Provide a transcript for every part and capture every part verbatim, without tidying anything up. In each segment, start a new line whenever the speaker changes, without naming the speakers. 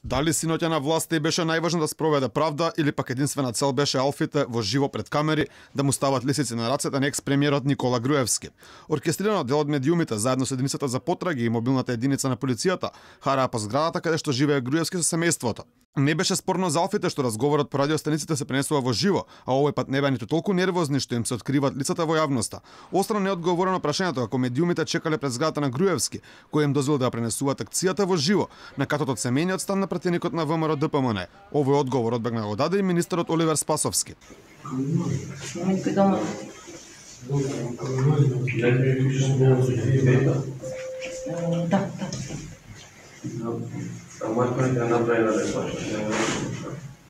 Дали синоќа на власта и беше најважно да спроведе правда или пак единствена цел беше Алфите во живо пред камери да му стават лисици на рацете на екс-премиерот Никола Груевски. Оркестрирано дел од медиумите заедно со единицата за потраги и мобилната единица на полицијата хараа по зградата каде што живее Груевски со семејството. Не беше спорно за Алфите што разговорот по радиостаниците се пренесува во живо, а овој пат не беа ниту толку нервозни што им се откриваат лицата во јавноста. Острано неодговорено прашањето како медиумите чекале пред зградата на Груевски, кој им дозволи да пренесуваат акцијата во живо на катот од семејниот стан на пратеникот на ВМРО Д П М Н. Овој одговор одбегна го даде и министерот Оливер Спасовски.
Да,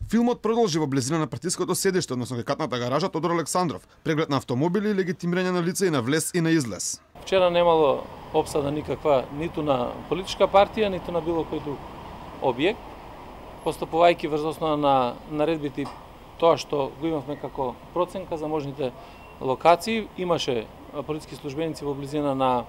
Филмот продолжи во близина на партиското седиште, односно катната гаража Тодор Александров, преглед на автомобили и легитимирање на лица и на влез и на излез.
Вчера немало обсада никаква ниту на политичка партија, ниту на било кој друг објект. Постапувајќи врз основа на наредбите тоа што го имавме како проценка за можните локации, имаше полициски службеници во близина на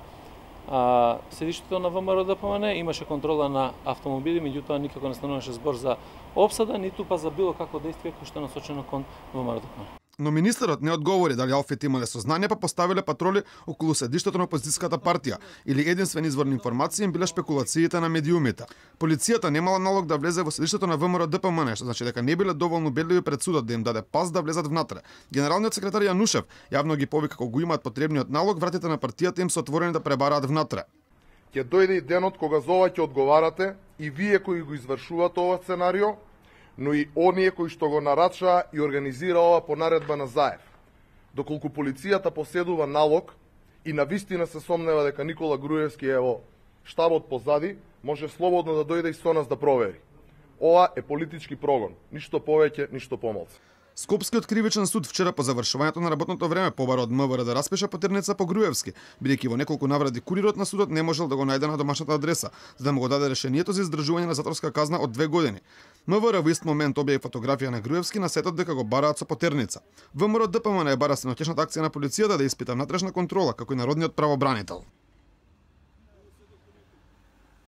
а, седиштето на ВМРО Д П М Н, имаше контрола на автомобили, меѓутоа никако не стануваше збор за обсада, ниту па за било какво действие кој што е насочено кон ВМРО Д П М Н.
Но министерот не одговори дали Алфите имале сознание, па поставиле патроли околу седиштето на опозицијската партија или единствен извор на информации им биле шпекулациите на медиумите. Полицијата немала налог да влезе во седиштето на ВМРО Д П М Н, што значи дека не биле доволно убедливи пред судот да им даде пас да влезат внатре. Генералниот секретар Јанушев јавно ги повика како го имаат потребниот налог, вратите на партијата им се отворени да пребараат внатре.
Ќе дојде и денот кога за ова ќе одговарате и вие кои го извршувате ова сценарио, но и оние кои што го нарачаа и организира ова по наредба на Заев. Доколку полицијата поседува налог и навистина се сомнева дека Никола Груевски е во штабот позади, може слободно да дојде и со нас да провери. Ова е политички прогон, ништо повеќе, ништо помалку.
Скопскиот кривичен суд вчера по завршувањето на работното време побара од М В Р да распише потерница по Груевски, бидејќи во неколку навради курирот на судот не можел да го најде на домашната адреса, за да му го даде решението за издржување на затворска казна од две години. М В Р во ист момент објави фотографија на Груевски на сетот дека го бараат со потерница. ВМРО Д П М Н е бара синоќешната акција на полицијата да испита внатрешна контрола како и народниот правобранител.